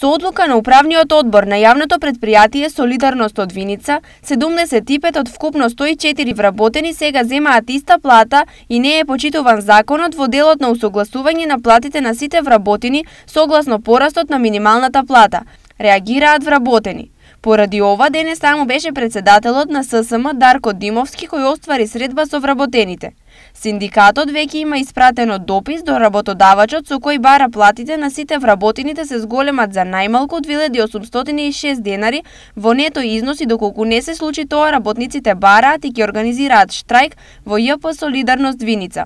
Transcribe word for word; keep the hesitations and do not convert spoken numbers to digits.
Со одлука на управниот одбор на јавното претпријатие Солидарност од Виница, седумдесет и пет од вкупно сто и четири вработени сега земаат иста плата и не е почитуван законот во делот на усогласување на платите на сите вработени согласно порастот на минималната плата, реагираат вработени. Поради ова, денес таму беше председателот на ССМ Дарко Димовски кој оствари средба со вработените. Синдикатот веќе има испратено допис до работодавачот со кој бара платите на сите вработени да се зголемат за најмалку две илјади осумстотини и шест денари во нето износ и доколку не се случи тоа, работниците бараат и ќе организираат штрајк во Ј П Солидарност Виница.